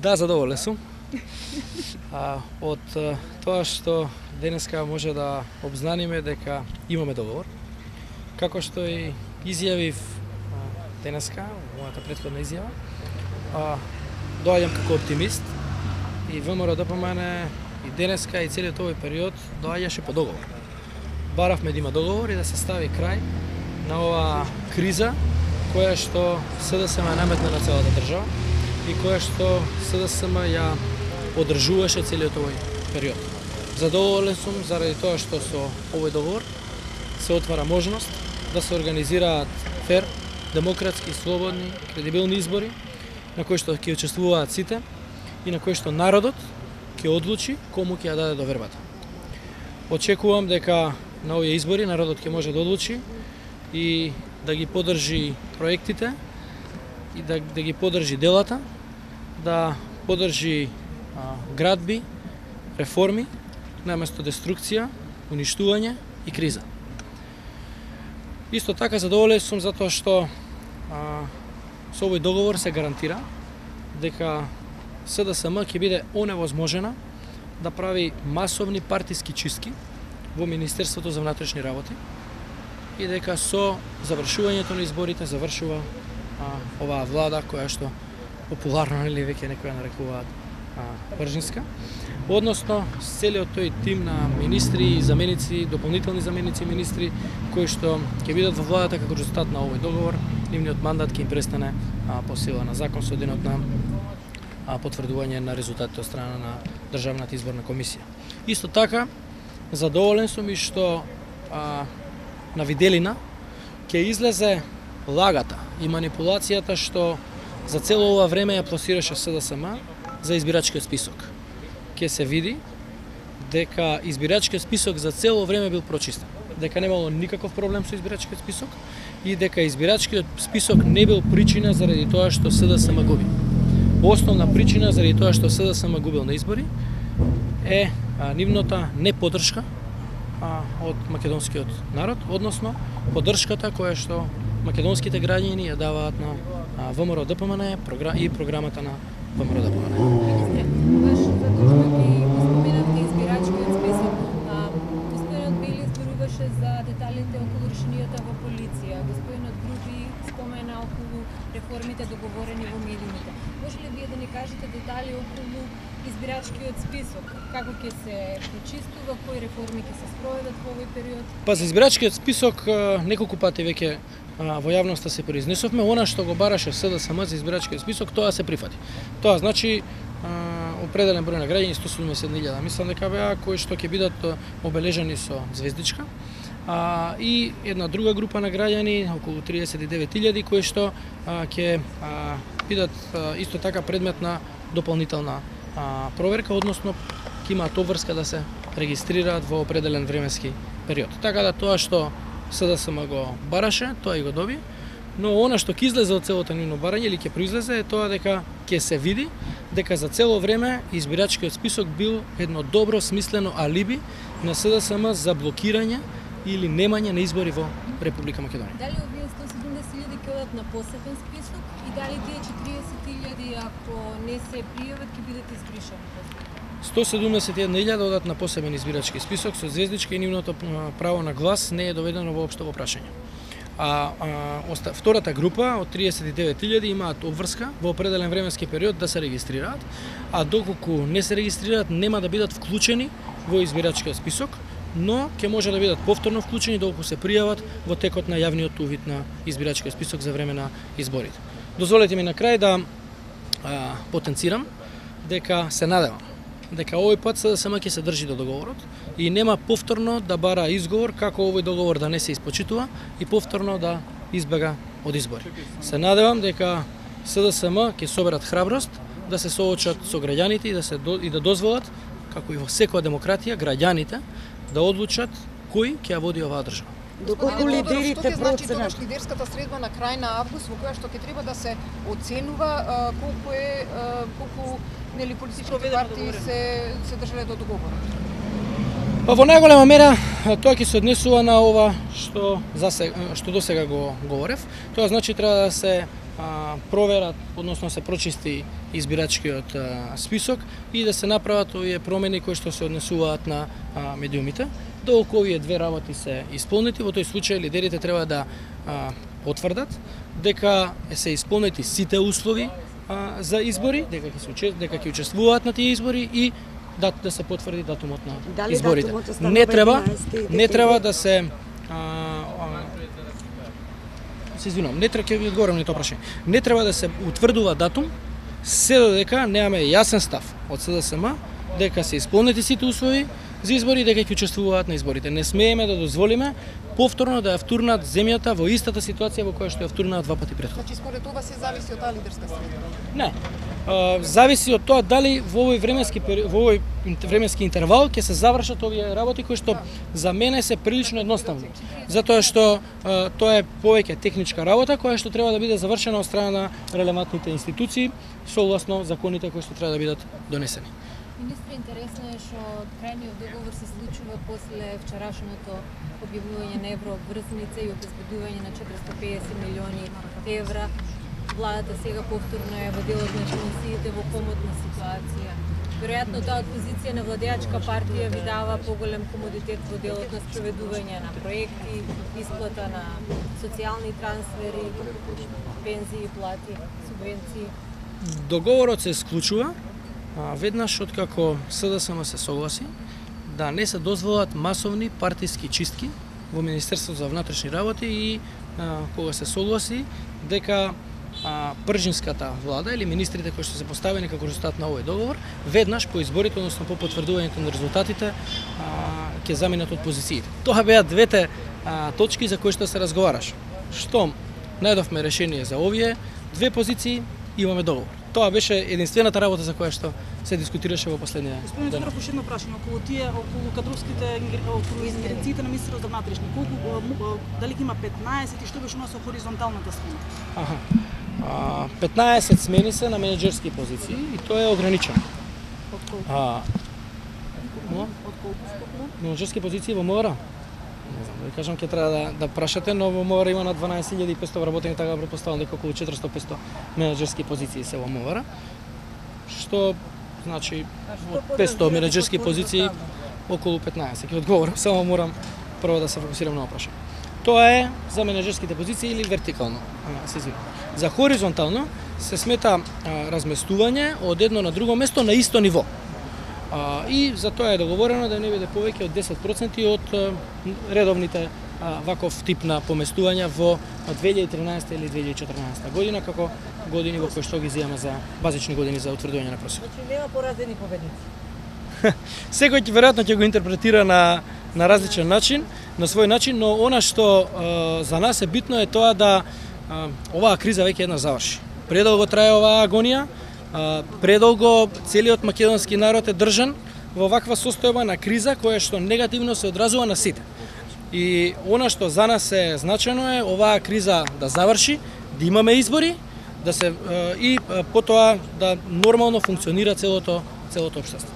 Да, задоволен сум. Од тоа што денеска може да обзнаниме дека имаме договор. Како што и изјавив денеска, мојата претходна изјава, доаѓам како оптимист и ВМРО-ДПМН и денеска и целиот овој период доаѓаше по договор. Баравме да има договор и да се стави крај на оваа криза која што СДСМ наметна на целата држава и која што СДСМ ја одржуваше целиот овој период. Задоволен сум заради тоа што со овој договор се отвара можност да се организираат фер, демократски, слободни, кредибилни избори на кои што ќе учествуваат сите и на кои што народот ќе одлучи кому ќе ја даде довербата. Очекувам дека на овие избори народот ќе може да одлучи и да ги поддржи проектите и да ги поддржи делата, да поддржи градби, реформи, наместо деструкција, уништување и криза. Исто така задоволен сум затоа што со овој договор се гарантира дека СДСМ ќе биде оневозможена да прави масовни партиски чистки во Министерството за внатрешни работи и дека со завршувањето на изборите завршува оваа влада која што популарно или веќе некоја нарекуваат бржинска, односно целиот тој тим на министри, заменици, дополнителни заменици министри кои што ќе бидат во владата како резултат на овој договор, нивниот мандат ќе им престане по сила на закон со денот на потврдување на резултатите од страна на Државната изборна комисија. Исто така задоволен сум и што на виделина ќе излезе лагата и манипулацијата што за цело ова време ја пласираше СДСМ за избирачкиот список. Ќе се види дека избирачкиот список за цело време бил прочистен, дека немало никаков проблем со избирачкиот список и дека избирачкиот список не бил причина заради тоа што СДСМ губи. Основна причина заради тоа што СДСМ губил на избори е нивната неподдршка од македонскиот народ, односно поддршката која што македонските граѓани ја даваат на ВМРО-ДПМН и програмата на ВМРО-ДПМН. Баш затоа што ги споменавте избирачкиот список, господинот Бели зборуваше за деталите околу решенијата во полиција, господинот Груби спомена околу реформите договорени во медиумите. Може ли вие да ни кажете детали околу избирачкиот список, како ќе се почистува, кои реформи ќе се спроведат во овој период? Па за избирачкиот список неколку пати веќе во јавноста се произнесовме, она што го бараше СДСМ за избирачкиот список, тоа се прифати. Тоа значи определен број на граѓани, 170.000, мислам дека беа, кои што ќе бидат обележани со звездичка, и една друга група на граѓани, околу 39.000, кои што ќе бидат исто така предмет на дополнителна проверка, односно ќе имаат обврска да се регистрираат во определен временски период. Така да тоа што СДСМ го бараше, тоа и го доби, но она што ќе излезе од целото нивно барање или ќе произлезе е тоа дека ќе се види дека за цело време избирачкиот список бил едно добро смислено алиби на СДСМ за блокирање или немање на избори во Република Македонија. Дали овие 170.000 ќе одат на посебен список и дали тие 40.000 ако не се пријават ќе бидат избришани? 171.000 одат на посебен избирачки список со звездичка и нивното право на глас не е доведено воопшто во прашање. Втората група од 39.000 имаат обврска во определен временски период да се регистрираат, а доколку не се регистрираат нема да бидат вклучени во избирачкиот список, но ќе може да бидат повторно вклучени доколку се пријават во текот на јавниот увид на избирачкиот список за време на изборите. Дозволете ми на крај да потенцирам дека се надевам дека овој пат СДСМ ќе се држи до договорот и нема повторно да бара изговор како овој договор да не се испочитува и повторно да избега од избори. Се надевам дека СДСМ ќе соберат храброст да се соочат со граѓаните и да дозволат, како и во секоја демократија, граѓаните да одлучат кој ќе ја води оваа држава. Доколку лидерите значи тогаш лидерската средба на крај на август во која што ќе треба да се оценува колку нели политичките партии се држале до договорот? Па во најголема мера тоа ќе се однесува на ова што досега го говорев. Тоа значи треба да се проверат, односно се прочисти избирачкиот список и да се направат овие промени кои што се однесуваат на медиумите. Доколку овие две работи се исполнети, во тој случај лидерите треба да потврдат дека се исполнети сите услови за избори, дека ќе учествуваат на тие избори и да се потврди датумот на изборите. Не треба да се не треба ќе ви одговорам на тоа прашање. Не треба да се утврдува датум се додека немаме јасен став од СДСМ дека се исполнети сите услови за избори и дека ќе учествуваат на изборите. Не смееме да дозволиме повторно да ја втурнат земјата во истата ситуација во која што ја втурнаа два пати претходно. Значи според ова се зависи од таа лидерска средба? Не. Зависи од тоа дали во овој временски интервал ќе се завршат овие работи кои што за мене се прилично едноставни. Затоа што тоа е повеќе техничка работа која што треба да биде завршена од страна на релевантните институции согласно законите кои што треба да бидат донесени. Министре, интересно е што крајниот договор се случува после вчерашното објавување на еврообврзница и обезбедување на 450 милиони евра. Владата сега повторно е во делот на финансиите во комотна ситуација. Веројатно таа од позиција на владеачка партија ви дава поголем комодитет во делот на спроведување на проекти, исплата на социјални трансфери, пензии, плати, субвенции. Договорот се склучува веднаш откако СДСМ се согласи да не се дозволат масовни партиски чистки во Министерството за внатрешни работи и кога се согласи дека пржинската влада или министрите кои што се поставени како резултат на овој договор веднаш по изборите, односно по потврдувањето на резултатите ќе заминат од позициите. Тоа беа двете точки за кои што се разговараш. Штом најдовме решение за овие две позиции, имаме договор. Тоа беше единствената работа за која што се дискутираше во последнија ден. Господин Цуров, уште едно прашање околу кадровските ингеренциите на Министерството за внатрешни. Колку дали има 15 и што беше со хоризонталната смена? 15 смени се на менеджерски позиции и тоа е ограничено. Од колку? Од колку? Менеджерски позиции во МВР? Не знам, да ви кажам, ќе треба да прашате, но во МВР има на 12.500 вработени, така претпоставам дека околу 400-500 менеджерски позиции се во МВР. Што значи од 500 менеджерски позиции околу 15. Ќе одговорам, само морам прво да се фокусирам на прашање. Тоа е за менеджерските позиции или вертикално, се извинувам. За хоризонтално се смета разместување од едно на друго место на исто ниво. И за тоа е договорено да не биде повеќе од 10% од редовните ваков тип на поместувања во 2013 или 2014 година, како години во кои што ги земаме за базични години за утврдување на просек. Значи нема поразени победници. Секој веројатно ќе го интерпретира на различен начин, на свој начин, но она што за нас е битно е тоа да оваа криза веќе еднаш заврши. Предолго трае оваа агонија, предолго целиот македонски народ е држан во ваква состојба на криза која што негативно се одразува на сите. И она што за нас е значено е оваа криза да заврши, да имаме избори, да се и потоа да нормално функционира целото општество.